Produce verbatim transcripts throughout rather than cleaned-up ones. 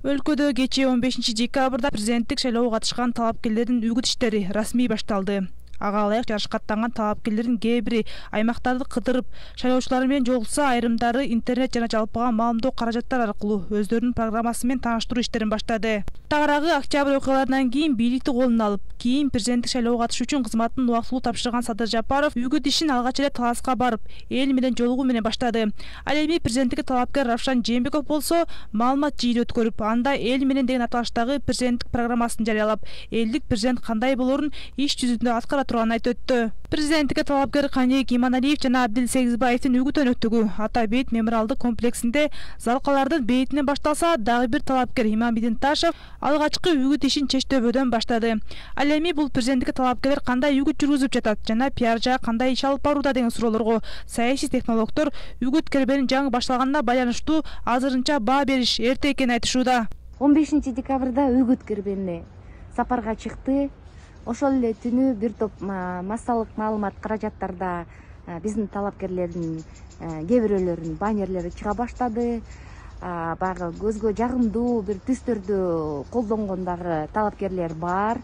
Өлкөдө кечээ он бешинчи декабрда президенттик шайлоого катышкан талапкерлердин үгүт иштери расмий башталды. Ага ылайык жарышка аттанган талапкерлердин кээ бири аймактарды кыдырып, шайлоочулар менен жолукса, айрымдары интернет жана жалпыга маалымдоо каражаттар аркылуу өздөрүнүн программасы менен тааныштыруу иштерин баштады. Тагыраагы октябрь окуяларынан кийин бийликти колуна алып, кийин президенттик шайлоого катышуу үчүн кызматын убактылуу тапшырган Садыр Жапаров үгүт ишин алгач эле Таласка барып, эл менен жолугуу менен баштады. Ал эми президенттикке талапкер Равшан Жээнбеков болсо, маалымат жыйын өткөрүп, анда эл менен деген аталыштагы президенттик программасын жарыялап, элдик президент кандай болорун иш жүзүндө аткара турганын айтып өттү. Президенттикке талапкер Каник Иманалиев жана Абдил Сегизбаевдин үгүт өнөктүгү Ата бейит мемориалдык комплексинде залкалардын бейитинен башталса, дагы бир талапкер Иманбидин Ташев алгачкы үгүт ишин Чечтөбөдөн баштады. Ал эми бул президенттикке талапкерлер кандай үгүт жүргүзүп жатат жана пиаржа кандай иш алып барууда деген суроолорго саясий технологдор үгүт кербенин жаңы башталганына байланыштуу азырынча баа бериш эрте экенин айтышууда. он бешинчи декабрда үгүт кербени сапарга чыкты. Ошол эле түнү бир топ массалык маалымат каражаттарда биздин талапкерлердин кээ бирөөлөрүнүн баннерлери чыга баштады. Баягы көзгө жагымдуу бир түстөрдү колдонгон дагы талапкерлер бар.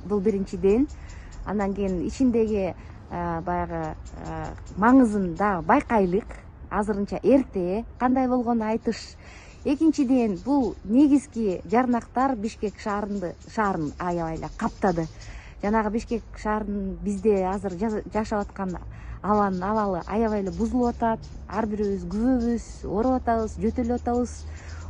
Бул биринчиден. Андан кийин ичиндеги баягы маңызын дагы байкайлык. Азырынча эрте кандай болгонун айтыш. Экинчиден, бул негизги жарнактар Бишкек шаарынды шаарын аябай эле каптады. Жанагы Бишкек шаарынын бизде азыр жашап аткан абанын абалы аябай эле бузулуп атат. Ар бирибиз күбөбүз, ооруп атабыз, жөтөлүп атабыз.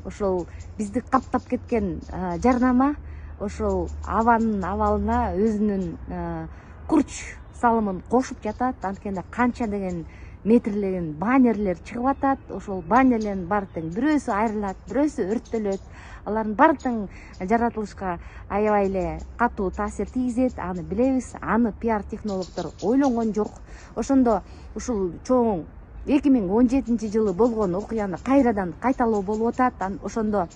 Ошол бизди каптап кеткен жарнама ошол абанын абалына өзүнүн курч салымын кошуп жатат. Анткени канча деген метрлеген баннерлер чыгып атат. Ошол баннерлердин баары тең бирөөсү айрылат, бирөөсү өрттөлөт. Алардын баары тең жаратылышка аябай эле катуу таасир тийгизет. Аны билебиз. Аны пиар технологдор ойлонгон жок. Ошондо ушул чоң эки миң он жетинчи жылы болгон окуяны кайрадан кайталоо болуп атат. Ошондо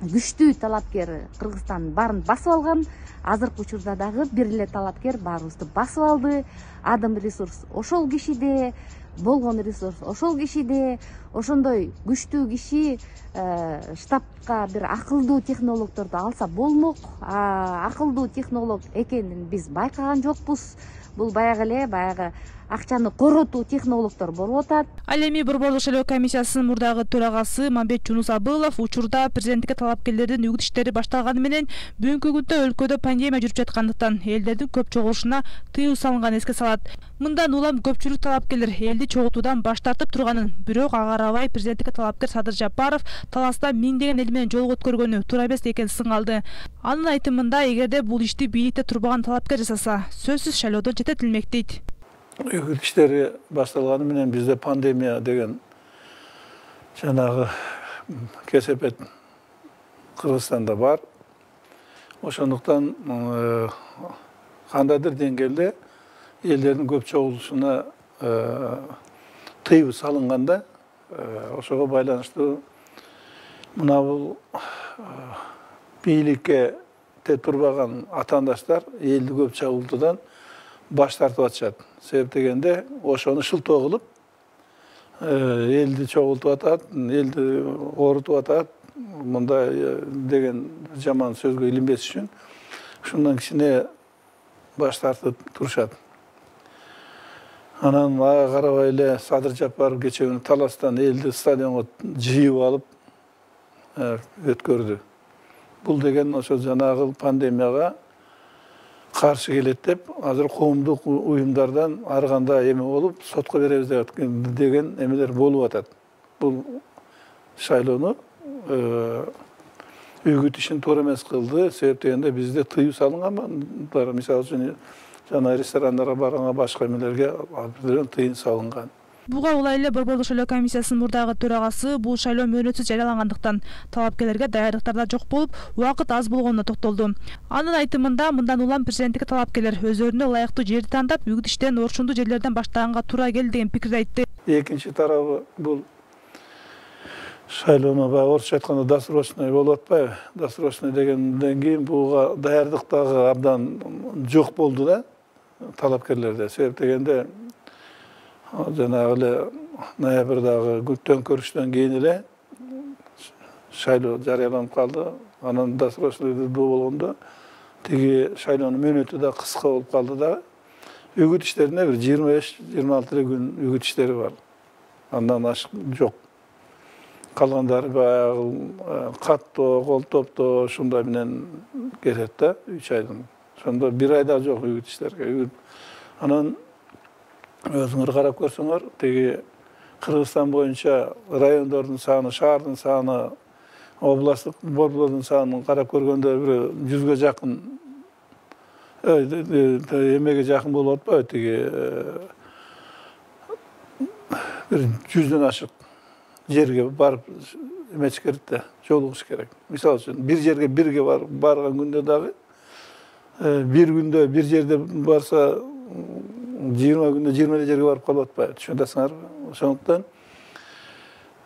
күчтүү талапкер Кыргызстандын баарын басып алган. Азыркы учурда дагы бир эле талапкер баарыбызды басып алды. Адам ресурс ошол кишиде, болгон ресурс ошол кишиде. Ошондой күчтүү киши штабка бир акылдуу технологдорду алса болмок. Акылдуу технолог экенин биз байкаган жокпуз. Бул баягы эле баягы акчаны коротуу технологдор болуп атат. Ал эми Борборлук шайлоо комиссиясынын мурдагы төрагасы Мамбет Жунус Абылов учурда президенттикке талапкерлердин үгүт иштери башталганы менен бүгүнкү күндө өлкөдө пандемия жүрүп жаткандыктан элдердин көп чогулушуна тыюу салынганын эске салат. Мындан улам көпчүлүк талапкерлер элди чогултуудан баш тартып турганын, бирок ага карабай президенттикке талапкер Садыр Жапаров Таласта миңдеген эл менен жолугуп өткөргөнү туура эмес экенин сыңалды. Анын айтымында, эгерде бул ишти бийликте турбаган талапкер жасаса, сөзсүз шайлоодон четтетилмек дейт. Үгүт иштери башталганы менен бизде пандемия деген жанагы кесепет Кыргызстанда бар. Ошондуктан кандайдыр деңгээлде элдердин көп чогулушуна тыюу салынганда, ошого байланыштуу мына бул бийликке турбаган атаандаштар элди көп чогултуудан баш тартып атышат. Себеп дегенде ошону шылтоо кылып, элди чогултуп атат, элди оорутуп атат, мындай деген жаман сөзгө илинбес үчүн ушундан кичине баш тартып турушат. Анан ага карабай эле Садыр Жапаров кечээ күнү Таластан элди стадионго жыйып алып өткөрдү. Бул деген ошо жанагы пандемияга каршы келет деп, азыр коомдук уюмдардан ар кандай эме болуп, сотко беребиз деген эмелер болуп атат. Бул шайлоону үгүт ишин туура эмес кылды. Себеп дегенде бизде тыюу салынган, мисалы үчүн жана ресторандарга барганга, башка эмелерге тыйын салынган. Буга улай эле Борборлук шайлоо комиссиясынын мурдагы төрагасы бул шайлоо мөөнөтсүз жарыялангандыктан талапкерлерге даярдыктарда жок болуп, убакыт аз болгонуна токтолду. Анын айтымында, мындан улам президенттикке талапкерлер өздөрүнө ылайыктуу жерди тандап, үгүт иштен орчундуу жерлерден баштаганга туура келди деген пикирди айтты. Экинчи тарабы бул шайлоону баягы орусча айтканда досрочный болуп атпайбы? Досрочный дегенден кийин буга даярдык дагы абдан жок болду да талапкерлерде. Себеп дегенде жанагы эле ноябрдагы төңкөрүштөн кийин эле шайлоо жарыяланып калды. Анан досрочный болгондо тиги шайлоонун мөөнөтү да кыска болуп калды да. Үгүт иштерине бир жыйырма беш жыйырма алты эле күн үгүт иштери бар. Андан ашык жок. Калгандары баягы каттоо, кол топтоо ушундай менен кетет да, үч айдын. Ошондо бир айда жок үгүт иштерге. Үгүт. Анан өзүңөр карап көрсөңөр, тиги Кыргызстан боюнча райондордун саны, шаардын саны, областтык борбордун санын карап көргөндө бир жүзгө жакын эмеге жакын болуп атпайбы, тиги бир жүздөн ашык жерге барып эмеш керек да, жолугуш керек. Мисалы үчүн бир жерге бирге барган күндө дагы бир күндө бир жерде барса жыйырма күндө жыйырма эле жерге барып калып атпайбы, түшүнөсүңөрбү? Ошондуктан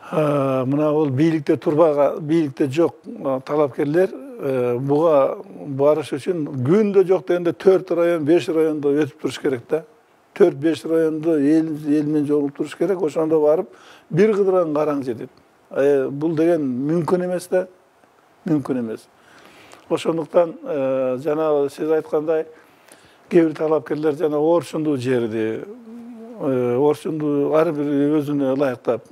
мына бул бийликте турбаган, бийликте жок талапкерлер буга барыш үчүн күндө жок дегенде төрт район, беш райондо өтүп туруш керек да. төрт беш райондо эл эл менен жолугуп туруш керек. Ошондо барып бир кыдыран караң жетет. Бул деген мүмкүн эмес да, мүмкүн эмес. Ошондуктан жанагы сиз айткандай кээ бир талапкерлер жана орчунду жерди, орчунду ар бир өзүнө ылайыктап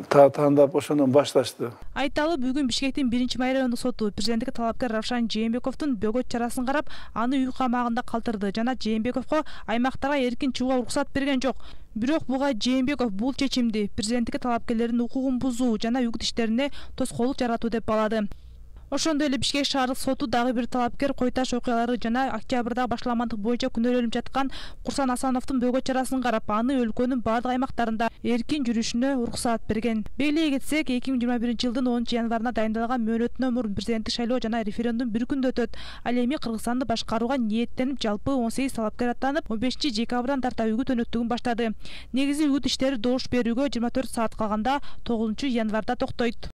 тандап ошондон башташты. Айталы, бүгүн Бишкектин биринчи май райондук соту президенттикке талапкер Равшан Жээнбековдун бөгөт чарасын карап, аны үй камагында калтырды жана Жээнбековго аймактарга эркин чыгууга уруксат берген жок. Бирок буга Жээнбеков бул чечимди президенттикке талапкерлердин укугун бузуу жана үгүт иштерине тоскоолдук жаратуу деп баалады. Ошондой эле Бишкек шаардык соту дагы бир талапкер Кой Таш окуялары жана октябрдагы башаламандык боюнча күнөөлөнүп жаткан Курсан Асановдун бөгөт чарасын карап, аны өлкөнүн бардык аймактарында эркин жүрүшүнө уруксаат берген. Белгилей кетсек, эки миң жыйырма биринчи жылдын онунчу январына дайындалган мөөнөттөн мурун президенттик шайлоо жана референдум бир күндө өтөт. Ал эми Кыргызстанды башкарууга ниеттенип, жалпы он сегиз талапкер аттанып, он бешинчи декабрдан тарта үгүт өнөктүгүн баштады. Негизи үгүт иштери добуш берүүгө жыйырма төрт саат калганда тогузунчу январда токтойт.